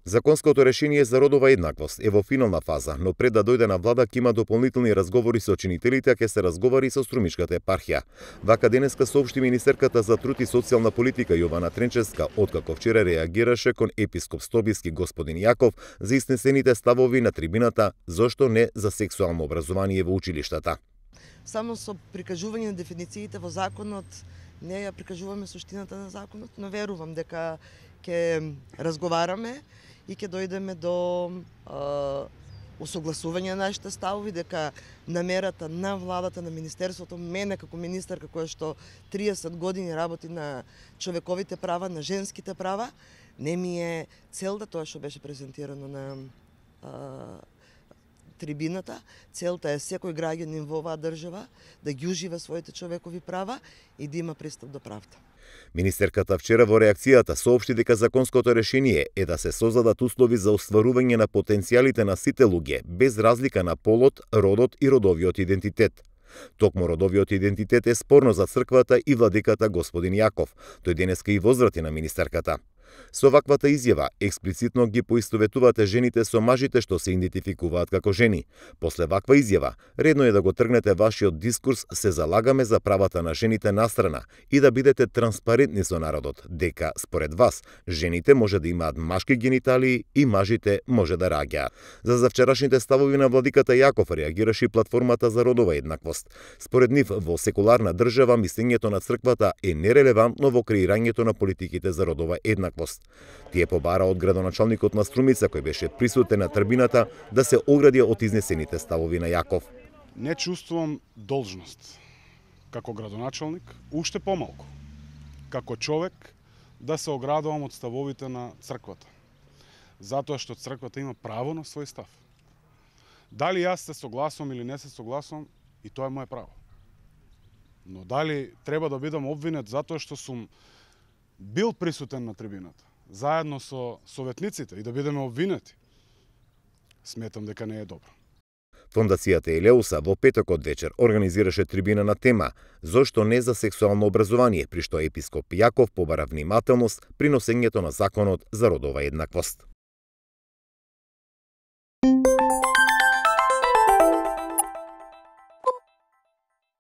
Законското решение за родова еднаквост е во финална фаза, но пред да дојде на влада ќе има дополнителни разговори со чинителите, а ќе се разговари со струмичката епархија. Вака денеска соопшти министерката за труд и социјална политика Јована Тренчевска, откако вчера реагираше кон епископ Стобиски господин Јаков за изнесените ставови на трибината зошто не за сексуално образование во училиштата. Само со прикажување на дефинициите во законот не ја прикажуваме суштината на законот, но верувам дека ќе разговараме и ќе дојдеме до усогласување на нашите ставови, дека намерата на владата, на министерството, мене како министерка која што 30 години работи на човековите права, на женските права, не ми е целта тоа што беше презентирано на трибината. Целта е секој граѓанин во оваа држава да ги ужива своите човекови права и да има пристап до правда. Министерката вчера во реакцијата соопшти дека законското решение е да се создадат услови за остварување на потенцијалите на сите луѓе, без разлика на полот, родот и родовиот идентитет. Токму родовиот идентитет е спорно за црквата и владиката господин Јаков. Тој денеска и возврати на министерката. Со ваквата изјава, експлицитно ги поистоветувате жените со мажите што се идентификуваат како жени. После ваква изјава, редно е да го тргнете вашиот дискурс "Се залагаме за правата на жените" настрана и да бидете транспарентни со народот, дека, според вас, жените може да имаат машки гениталии и мажите може да раѓаат. За вчерашните ставови на владиката Јаков реагираше и платформата за родова еднаквост. Според нив, во секуларна држава мислењето на црквата е нерелевантно во креирањето на политиките за родова еднаквост. Тие побара од градоначалникот на Струмица, кој беше присутен на трибината, да се огради од изнесените ставови на Јаков. Не чувствувам должност како градоначалник, уште помалку како човек, да се оградувам од ставовите на црквата. Затоа што црквата има право на свој став. Дали јас се согласувам или не се согласувам, и тоа е моje право. Но дали треба да бидам обвинет затоа што сум бил присутен на трибината, заедно со советниците и да бидеме обвинети, сметам дека не е добро. Фондацијата Елеуса во петокот вечер организираше трибина на тема "Зошто не за сексуално образование", при што епископ Јаков побара внимателност при носењето на законот за родова еднаквост.